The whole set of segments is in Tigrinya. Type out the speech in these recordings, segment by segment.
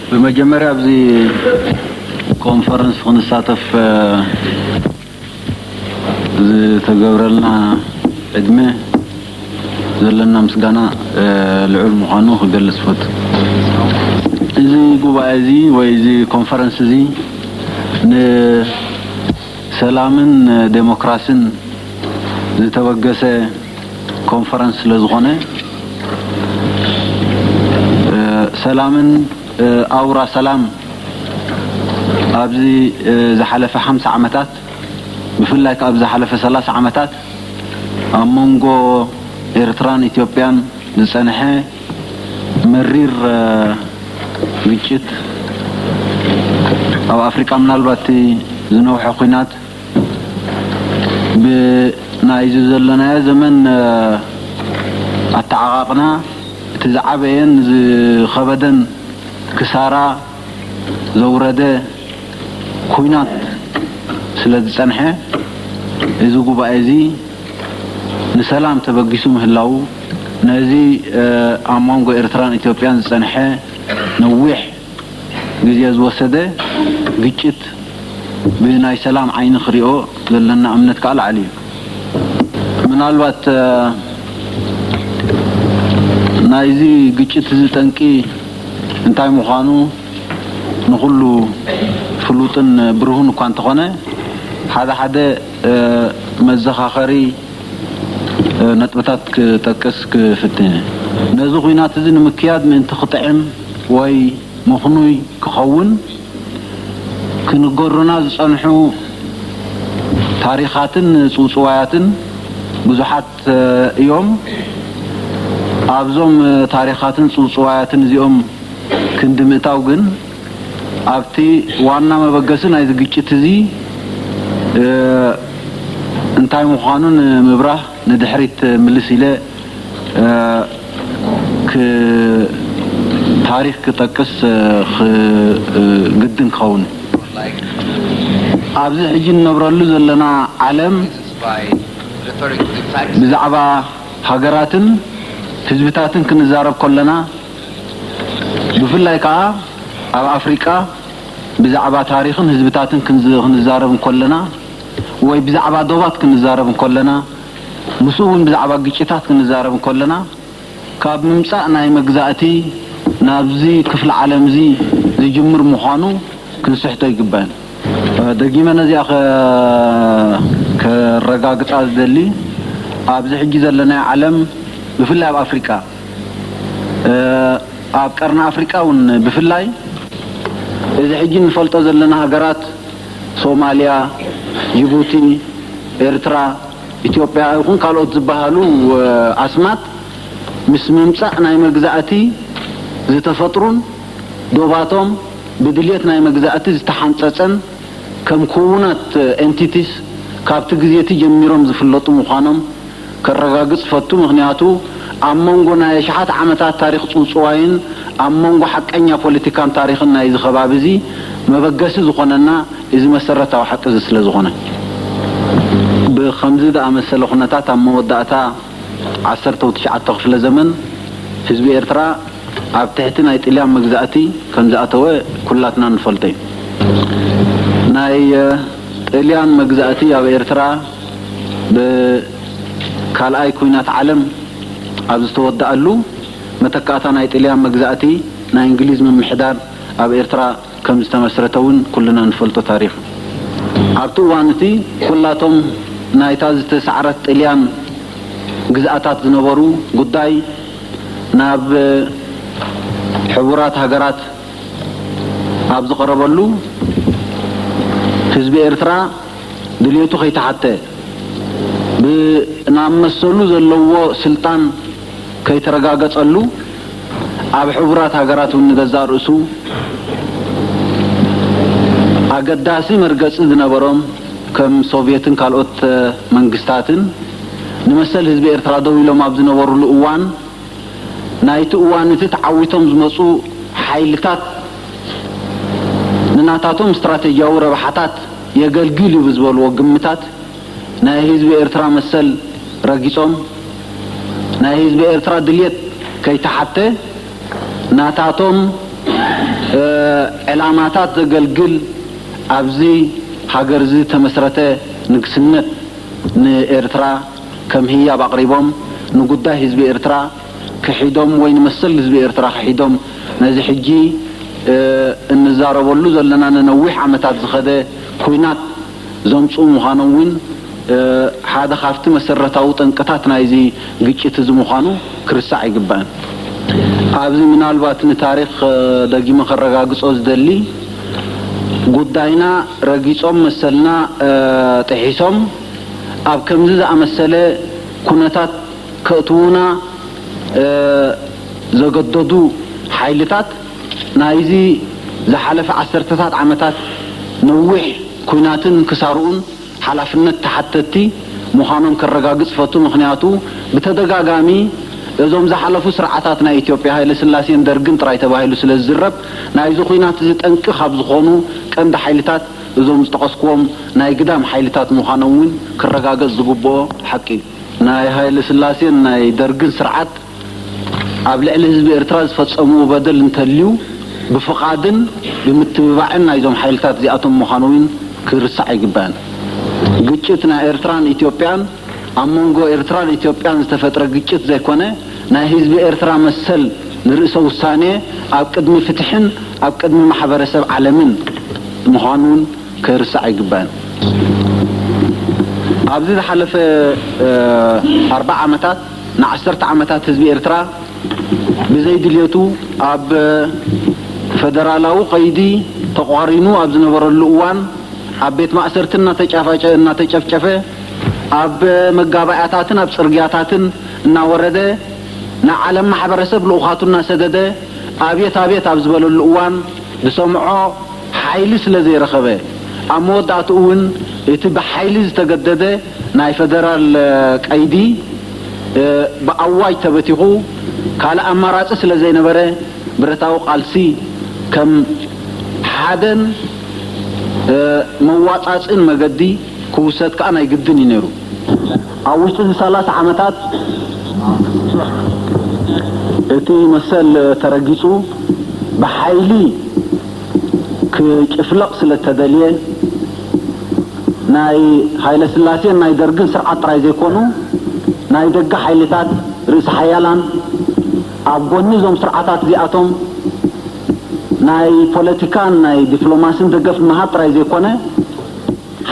ብመጀመርያ ኣብዚ ኮንፈረንስ ክንሳተፍ ዝተገብረልና ዕድመ ዘለና ምስጋና ልዑል ምዃኑ ክገልጽ እፈቱ። እዚ ጉባኤ እዚ ወይ እዚ ኮንፈረንስ እዚ ንሰላምን ዴሞክራሲን ዝተበገሰ ኮንፈረንስ ስለ ዝኾነ፣ ሰላምን ኣውራ ሰላም ኣብዚ ዝሓለፈ ሓምሳ ዓመታት፣ ብፍላይ ከኣ ኣብ ዝሓለፈ ሰላሳ ዓመታት ኣብ መንጎ ኤርትራን ኢትዮጵያን ዝጸንሐ መሪር ግጭት፣ ኣብ ኣፍሪቃ ምናልባት እቲ ዝነውሐ ኲናት፣ ብናይዚ ዘለናዮ ዘመን ኣተዓቓቕና እቲ ዝዓበየን ዝኸበደን ክሳራ ዘውረደ ኲናት ስለ ዝጸንሐ፣ እዚ ጉባኤ እዚ ንሰላም ተበጊሱ ምህላዉ፣ ነዚ ኣብ መንጎ ኤርትራን ኢትዮጵያን ዝጸንሐ ነዊሕ ግዜ ዝወሰደ ግጭት ብናይ ሰላም ዓይኒ ክሪኦ ዘለና እምነት ከኣ ላዕሊ እዩ። ምናልባት ናይዚ ግጭት እዚ ጠንቂ እንታይ ምዃኑ ንኹሉ ፍሉጥን ብሩህን እኳ እንተኾነ፣ ሓደ ሓደ መዘኻኸሪ ነጥብታት ክጠቅስ ክፍትን። ነዚ ኲናት እዚ ንምክያድ ምእንቲ ክጥዕም ወይ ምኽኑይ ክኸውን፣ ክንገሩና ዝጸንሑ ታሪኻትን ጽውጽዋያትን ብዙሓት እዮም። ኣብዞም ታሪኻትን ጽውጽዋያትን እዚኦም ክንዲ ምእታው ግን፣ ኣብቲ ዋና መበገሲ ናይዚ ግጭት እዚ እንታይ ምዃኑ ንምብራህ ንድሕሪት ምልስ ኢለ ታሪኽ ክጠቅስ ግድን ክኸውን። ኣብዚ ሕጂ እንነብረሉ ዘለና ዓለም ብዛዕባ ሃገራትን ህዝብታትን ክንዛረብ ከለና፣ ብፍላይ ከኣ ኣብ ኣፍሪቃ ብዛዕባ ታሪኽን ህዝብታትን ክንዛረብ እንከለና፣ ወይ ብዛዕባ ዶባት ክንዛረብ እንከለና፣ ምስኡ እውን ብዛዕባ ግጭታት ክንዛረብ እንከለና፣ ካብ ምምጻእ ናይ መግዛእቲ ናብዚ ክፍለ ዓለም እዚ ዝጅምር ምዃኑ ክንስሕቶ ኣይግባእን። ደጊመ ነዚኣ ከረጋግጻ ዝደሊ፣ ኣብዚ ሕጂ ዘለናዮ ዓለም፣ ብፍላይ ኣብ ኣፍሪቃ፣ ኣብ ቀርኒ ኣፍሪቃ እውን ብፍላይ፣ እዚ ሕጂ እንፈልጦ ዘለና ሃገራት ሶማልያ፣ ጅቡቲ፣ ኤርትራ፣ ኢትዮጵያ ይኹን ካልኦት ዝበሃሉ ኣስማት፣ ምስ ምምጻእ ናይ መግዛእቲ ዝተፈጥሩን ዶባቶም ብድልየት ናይ መግዛእቲ ዝተሓንጸጸን ከም ክውናት ኤንቲቲስ ካብቲ ግዜቲ ጀሚሮም ዝፍለጡ ምዃኖም ከረጋግጽ ፈቱ። ምኽንያቱ ኣብ መንጎ ናይ ኣሽሓት ዓመታት ታሪኽ ጽውጽዋይን ኣብ መንጎ ሓቀኛ ፖለቲካን ታሪኽን ናይዚ ከባቢ እዚ መበገሲ ዝኾነና እዚ መሰረታዊ ሓቂ እዚ ስለ ዝኾነ። ብኸምዚ ዝኣመሰለ ኩነታት ኣብ መወዳእታ ዓሰርተው ትሽዓተ ክፍለ ዘመን ህዝቢ ኤርትራ ኣብ ትሕቲ ናይ ጥልያን መግዛእቲ ከም ዝኣተወ ኩላትና ንፈልጦ እዩ። ናይ ጥልያን መግዛእቲ ኣብ ኤርትራ ብካልኣይ ኩናት ዓለም ኣብ ዝተወደኣሉ መተካእታ ናይ ጥልያን መግዛእቲ ናይ እንግሊዝ ምምሕዳር ኣብ ኤርትራ ከም ዝተመስረተ እውን ኩልና ንፈልጦ ታሪኽ። ኣብቲ እዋን እቲ ኩላቶም ናይታ ዝተሳዕረት ጥልያን ግዝኣታት ዝነበሩ ጉዳይ ናብ ሕቡራት ሃገራት ኣብ ዝቐረበሉ፣ ህዝቢ ኤርትራ ድልየቱ ከይተሓተ፣ ብናብ መሰሉ ዘለዎ ስልጣን ከይተረጋገጸሉ፣ ኣብ ሕቡራት ሃገራት እውን ንገዛእ ርእሱ ኣገዳሲ መርገጺ ዝነበሮም፣ ከም ሶቭየትን ካልኦት መንግስታትን፣ ንመሰል ህዝቢ ኤርትራ ደው ኢሎም ኣብ ዝነበሩሉ እዋን፣ ናይቲ እዋን እቲ ተዓዊቶም ዝመጹ ሓይልታት ንናታቶም ስትራተጂያዊ ረብሓታት የገልግል እዩ ብዝበልዎ ግምታት፣ ናይ ህዝቢ ኤርትራ መሰል ረጊጾም፣ ናይ ህዝቢ ኤርትራ ድልየት ከይተሓተ፣ ናታቶም ዕላማታት ዘገልግል ኣብዚ ሃገር እዚ ተመስረተ ንግስነት ንኤርትራ ከም ህያብ ኣቕሪቦም፣ ንጉዳይ ህዝቢ ኤርትራ ክሒዶም ወይ ንመሰል ህዝቢ ኤርትራ ክሒዶም፣ ነዚ ሕጂ እንዛረበሉ ዘለና ንነዊሕ ዓመታት ዝኸደ ኲናት ዘምጽኡ ምዃኖም እውን ሓደ ካብቲ መሰረታዊ ጠንቅታት ናይዚ ግጭት እዚ ምዃኑ ክርስዕ ኣይግባእን። ኣብዚ ምናልባት ንታሪኽ ደጊመ ከረጋግጾ ዝደሊ፣ ጉዳይና ረጊጾም መሰልና ጥሒሶም ኣብ ከምዚ ዝኣመሰለ ኩነታት ከእትዉና ዘገደዱ ሓይልታት ናይዚ ዝሓለፈ ዓሰርተታት ዓመታት ነዊሕ ኲናትን ክሳርኡን ሓላፍነት ተሓተትቲ ምዃኖም ከረጋግጽ ፈቱ። ምኽንያቱ ብተደጋጋሚ እዞም ዝሓለፉ ስርዓታት ናይ ኢትዮጵያ፣ ሃይለ ስላሴን ደርግን ጥራይ ተባሂሉ ስለ ዝዝረብ፣ ናይዚ ኲናት እዚ ጠንቂ ካብ ዝኾኑ ቀንዲ ሓይልታት እዞም ዝጠቐስክዎም ናይ ግዳም ሓይልታት ምዃኖም እውን ክረጋገጽ ዝግብኦ ሓቂ እዩ። ናይ ሃይለ ስላሴን ናይ ደርግን ስርዓት ኣብ ልዕሊ ህዝቢ ኤርትራ ዝፈጸምዎ በደል እንተልዩ ብፍቓድን ብምትብባዕን ናይዞም ሓይልታት እዚኣቶም ምዃኑ እውን ክርሳዕ ኣይግባእን። ግጭት ናይ ኤርትራን ኢትዮጵያን ኣብ መንጎ ኤርትራን ኢትዮጵያን ዝተፈጥረ ግጭት ዘይኮነ፣ ናይ ህዝቢ ኤርትራ መሰል ንርእሰ ውሳኔ ኣብ ቅድሚ ፍትሕን ኣብ ቅድሚ ማሕበረሰብ ዓለምን ምዃኑ እውን ክርሳዕ ኣይግባእን። ኣብዚ ዝሓለፈ ኣርባዓ ዓመታት ንዓሰርተ ዓመታት ህዝቢ ኤርትራ ብዘይ ድልየቱ ኣብ ፈደራላዊ ቀይዲ ተቋሪኑ ኣብ ዝነበረሉ እዋን ኣብ ቤት ማእሰርቲ እናተጫፋጨ እናተጨፍጨፈ ኣብ መጋባእያታትን ኣብ ጽርግያታትን እናወረደ ንዓለም ማሕበረሰብ ልኡኻቱ እናሰደደ ኣብየት ኣብየት ኣብ ዝበለሉ እዋን ዝሰምዖ ሓይሊ ስለ ዘይረኸበ ኣብ መወዳእትኡ እውን እቲ ብሓይሊ ዝተገደደ ናይ ፈደራል ቀይዲ ብኣዋጅ ተበቲኹ ካልእ ኣማራጺ ስለ ዘይነበረ ብረታዊ ቃልሲ ከም ሓደን መዋጻጽን መገዲ ክውሰድ ከኣ ናይ ግድን እዩ ነይሩ። ኣብ ውሽጢ እዚ ሰላሳ ዓመታት እቲ መሰል ተረጊጹ ብሓይሊ ክጭፍለቕ ስለ እተደልየ ናይ ሃይለ ስላሴን ናይ ደርግን ስርዓት ጥራይ ዘይኮኑ ናይ ደገ ሓይልታት ርእሲ ሓያላን ኣብ ጎኒ እዞም ስርዓታት እዚኣቶም ናይ ፖለቲካን ናይ ዲፕሎማስን ደገፍ ምሃብ ጥራይ ዘይኮነ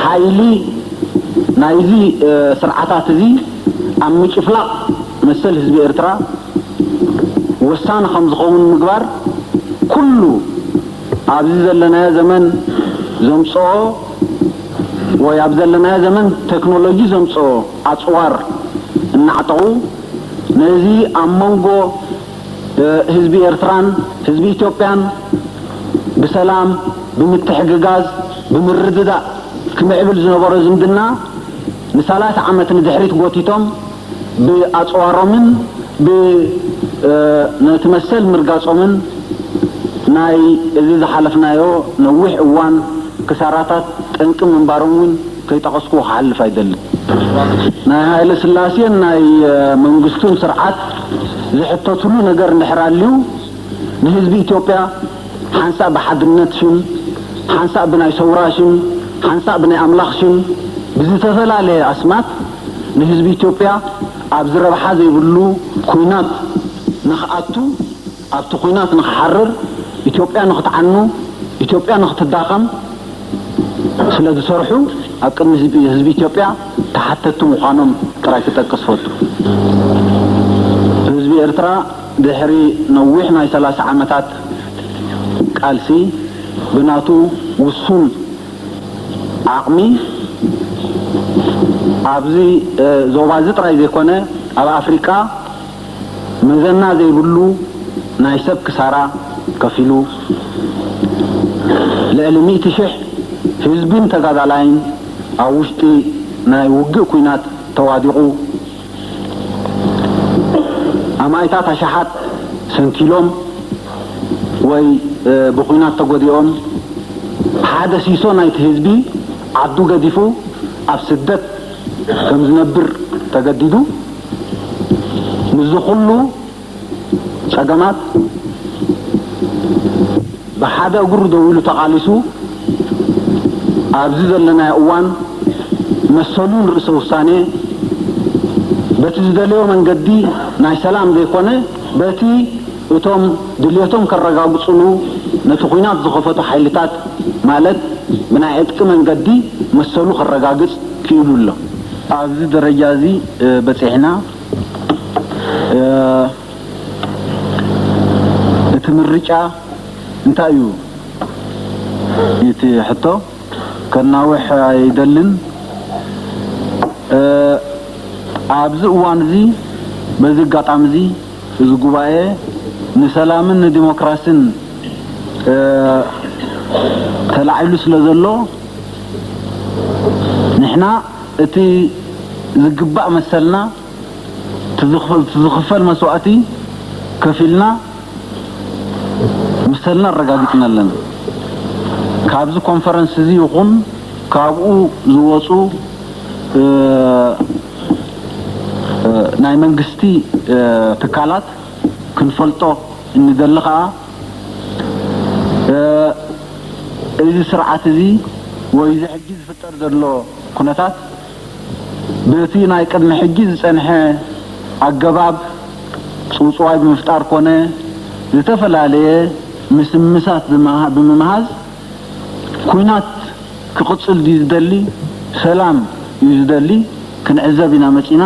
ሓይሊ ናይዚ ስርዓታት እዚ ኣብ ምጭፍላቕ መሰል ህዝቢ ኤርትራ ወሳኒ ከም ዝኸውን ምግባር ኩሉ ኣብዚ ዘለናዮ ዘመን ዘምጽኦ ወይ ኣብ ዘለናዮ ዘመን ቴክኖሎጂ ዘምጽኦ ኣጽዋር እናዕጠቑ ነዚ ኣብ መንጎ ህዝቢ ኤርትራን ህዝቢ ኢትዮጵያን ብሰላም ብምትሕግጋዝ ብምርድዳእ ክምዕብል ዝነበሮ ዝምድና ንሰላሳ ዓመት ንድሕሪት ጎቲቶም ብኣጽዋሮምን ብ ነቲ መሰል ምርጋጾምን ናይ እዚ ዝሓለፍናዮ ነዊሕ እዋን ክሳራታት ጠንቂ ምንባሮም እውን ከይጠቐስኩ ክሓልፍ ኣይደልን። ናይ ሃይለ ስላሴን ናይ መንግስቱን ስርዓት ዝሕተትሉ ነገር እንድሕር ኣልዩ ንህዝቢ ኢትዮጵያ ሓንሳእ ብሓድነት ሽም፣ ሓንሳእ ብናይ ሰውራ ሽም፣ ሓንሳእ ብናይ ኣምላኽ ሽም ብዝተፈላለየ ኣስማት ንህዝቢ ኢትዮጵያ ኣብዚ ረብሓ ዘይብሉ ኲናት ንኽኣቱ ኣብቲ ኲናት ንኽሓርር፣ ኢትዮጵያ ንኽትዓኑ፣ ኢትዮጵያ ንኽትዳኸም ስለ ዝሰርሑ ኣብ ቅድሚ ህዝቢ ህዝቢ ኢትዮጵያ ተሓተትቲ ምዃኖም ጥራይ ክጠቅስ ፈቱ። ህዝቢ ኤርትራ ድሕሪ ነዊሕ ናይ ሰላሳ ዓመታት ቃልሲ ብናቱ ውሱን ዓቕሚ ኣብዚ ዞባ እዚ ጥራይ ዘይኮነ ኣብ ኣፍሪቃ መዘና ዘይብሉ ናይ ሰብ ክሳራ ከፊሉ፣ ልዕሊ ሚእቲ ሽሕ ህዝብን ተጋዳላይን ኣብ ውሽጢ ናይ ውግእ ኲናት ተዋዲቑ፣ ኣማኢታት ኣሽሓት ሰንኪሎም ወይ ብኲናት ተጎዲኦም፣ ሓደ ሲሶ ናይቲ ህዝቢ ዓዱ ገዲፉ ኣብ ስደት ከም ዝነብር ተገዲዱ፣ ምስዚ ኩሉ ጸገማት ሓደ እግሩ ደው ኢሉ ተቓሊሱ ኣብዚ ዘለናዮ እዋን መሰሉን ርእሰ ውሳኔ በቲ ዝደለዮ መንገዲ ናይ ሰላም ዘይኮነ በቲ እቶም ድልየቶም ከረጋግጽሉ ነቲ ኲናት ዝኸፈቱ ሓይልታት ማለት ብናይ ዕጥቂ መንገዲ መሰሉ ከረጋግጽ ክኢሉ ኣሎ። ኣብዚ ደረጃ እዚ በጺሕና እቲ ምርጫ እንታይ እዩ? እቲ ሕቶ ከናውሕ ኣይደልን። ኣብዚ እዋን እዚ በዚ ኣጋጣሚ እዚ እዚ ጉባኤ ንሰላምን ንዲሞክራሲን ተላዒሉ ስለ ዘሎ ንሕና እቲ ዝግባእ መሰልና እቲ ዝኽፈል መስዋእቲ ከፊልና መሰልና ኣረጋጊፅና ኣለና። ካብዚ ኮንፈረንስ እዚ ይኹን ካብኡ ዝወፁ ናይ መንግስቲ ትካላት ክንፈልጦ እንደሊ ከዓ እዚ ስርዓት እዚ ወይ እዚ ሕጂ ዝፍጠር ዘሎ ኩነታት በቲ ናይ ቅድሚ ሕጂ ዝጸንሐ ኣገባብ ጽውጽዋይ ብምፍጣር ኮነ ዝተፈላለየ ምስምሳት ብምምሃዝ ኲናት ክቕጽል ድዩ ዝደሊ ሰላም እዩ ዝደሊ ክንዕዘብ ኢና መጺና።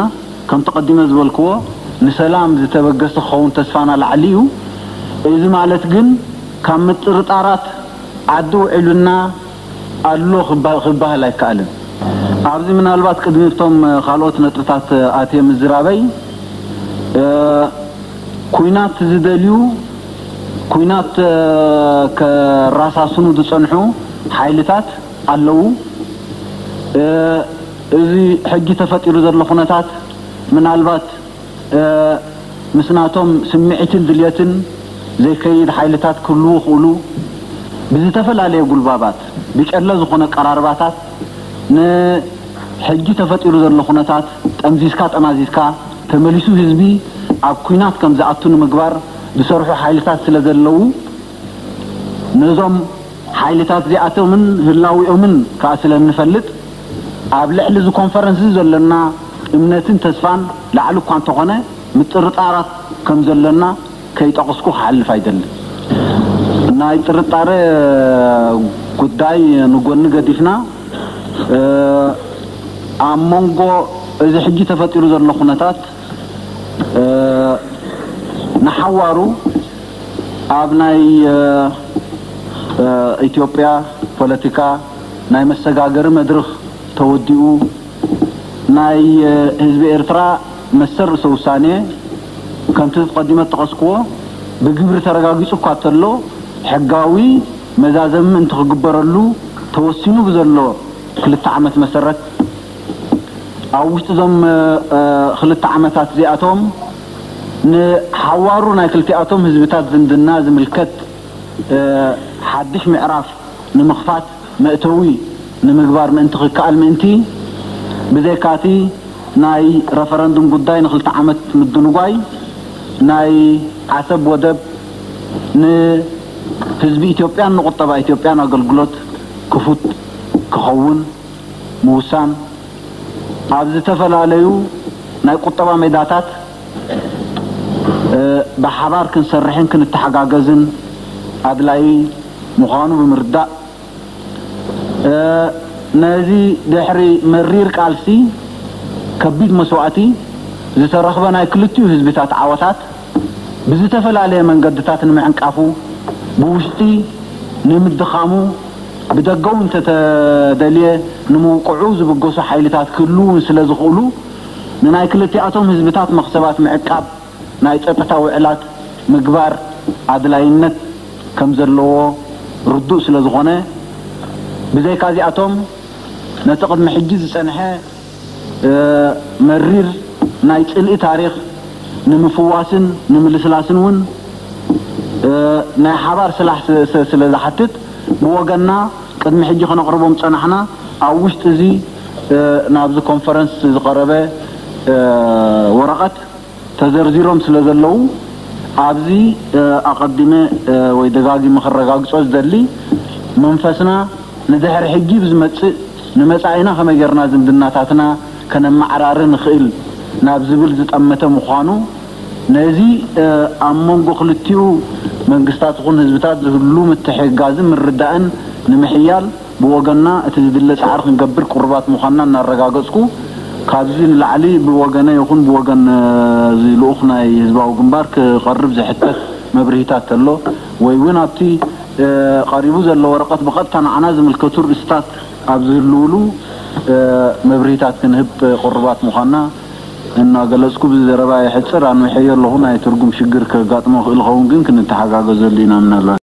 ከምቲ ቀዲመ ዝበልክዎ ንሰላም ዝተበገሰ ክኸውን ተስፋና ላዕሊ እዩ። እዚ ማለት ግን ካብ ምጥርጣራት ዓዲ ውዒሉና ኣሎ ክበሃል ኣይከኣልን። ኣብዚ ምናልባት ቅድሚ እቶም ካልኦት ነጥብታት ኣትየ ምዝራበይ ኲናት ዝደልዩ ኲናት ከራሳስኑ ዝጸንሑ ሓይልታት ኣለዉ። እዚ ሕጂ ተፈጢሩ ዘሎ ኩነታት ምናልባት ምስ ናቶም ስምዒትን ድልየትን ዘይከይድ ሓይልታት ክህልዉ ይኽእሉ። ብዝተፈላለየ ጉልባባት ብጨለ ዝኾነ ኣቀራርባታት ንሕጂ ተፈጢሩ ዘሎ ኩነታት ጠምዚዝካ ጠማዚዝካ ተመሊሱ ህዝቢ ኣብ ኲናት ከም ዝኣቱ ንምግባር ዝሰርሑ ሓይልታት ስለ ዘለዉ ነዞም ሓይልታት እዚኣቶምን ህላዊኦምን ከኣ ስለ እንፈልጥ ኣብ ልዕሊ እዚ ኮንፈረንስ እዚ ዘሎና እምነትን ተስፋን ላዕሊ እኳ እንተኾነ ምጥርጣራት ከም ዘሎና ከይጠቐስኩ ክሓልፍ ኣይደልን። ናይ ጥርጣረ ጉዳይ ንጎኒ ገዲፍና ኣብ መንጎ እዚ ሕጂ ተፈጢሩ ዘሎ ኩነታት ንሓዋሩ ኣብ ናይ ኢትዮጵያ ፖለቲካ ናይ መሰጋገሪ መድርኽ ተወዲኡ ናይ ህዝቢ ኤርትራ መሰል ርእሰ ውሳኔ ከምቲ ቀዲመ ዝጠቐስክዎ ብግብሪ ተረጋጊጹ እኳ እንተሎ ሕጋዊ መዛዘሚ ምእንቲ ክግበረሉ ተወሲኑ ብዘሎ ክልተ ዓመት መሰረት ኣብ ውሽጢ እዞም ክልተ ዓመታት እዚኣቶም ንሓዋሩ ናይ ክልቲኣቶም ህዝብታት ዝምድና ዝምልከት ሓድሽ ምዕራፍ ንምኽፋት መእተዊ ንምግባር ምእንቲ ክከኣል ምእንቲ ብዘይካቲ ናይ ረፈረንዱም ጉዳይ ንክልተ ዓመት ምድንጓይ ናይ ዓሰብ ወደብ ንህዝቢ ኢትዮጵያን ንቁጠባ ኢትዮጵያን ኣገልግሎት ክፉት ክኸውን ምውሳን ኣብ ዝተፈላለዩ ናይ ቁጠባ ሜዳታት ብሓባር ክንሰርሕን ክንተሓጋገዝን ኣድላዪ ምዃኑ ብምርዳእ ነዚ ድሕሪ መሪር ቃልሲ ከቢድ መስዋእቲ ዝተረኽበ ናይ ክልቲኡ ህዝብታት ዓወታት ብዝተፈላለየ መንገድታት ንምዕንቃፉ ብውሽጢ ንምድኻሙ ብደገ እውን እንተተደልየ ንምውቅዑ ዝብገሱ ሓይልታት ክህልው እውን ስለ ዝኽእሉ ንናይ ክልቲኣቶም ህዝብታት መኽሰባት ምዕቃብ ናይ ጸጥታ ውዕላት ምግባር ኣድላይነት ከም ዘለዎ ርዱእ ስለ ዝኾነ ብዘይካ እዚኣቶም ነቲ ቅድሚ ሕጂ ዝጸንሐ መሪር ናይ ጽልኢ ታሪኽ ንምፍዋስን ንምልስላስን እውን ናይ ሓባር ስራሕ ስለ ዝሓትት ብወገንና ቅድሚ ሕጂ ከነቕርቦም ዝጸናሕና ኣብ ውሽጢ እዚ ናብዚ ኮንፈረንስ ዝቐረበ ወረቐት ተዘርዚሮም ስለ ዘለዉ ኣብዚ ኣቐዲመ ወይ ደጋጊመ ክረጋግጾ ዝደሊ፣ መንፈስና ንድሕሪ ሕጂ ብዝመጽእ ንመጻኢና ከመይ ጌርና ዝምድናታትና ከነመዓራሪ ንኽእል ናብ ዝብል ዝጠመተ ምዃኑ፣ ነዚ ኣብ መንጎ ክልቲኡ መንግስታት ይኹን ህዝብታት ዝህሉ ምትሕግጋዝን ምርዳእን ንምሕያል ብወገንና እቲ ዝድለ ጻዕሪ ክንገብር ቅሩባት ምዃንና እናረጋገጽኩ፣ ካብዚ ንላዕሊ ብወገነ ይኹን ብወገን እዚ ልኡኽ ናይ ህዝባዊ ግንባር ክቐርብ ዝሕተት መብርሂታት ተሎ ወይ እውን ኣብቲ ቀሪቡ ዘሎ ወረቐት ብቐጥታ ንዓና ዝምልከቱ ርእስታት ኣብ ዝህልውሉ መብርሂታት ክንህብ ቅሩባት ምዃንና እናገለጽኩ፣ ብዘረባ የሕጽር ኣንዊሐዮ ኣለኹ። ናይ ትርጉም ሽግር ከጋጥሞ ክእል ኸውን ግን ክንተሓጋገዘሉ ኢና ምናልባት።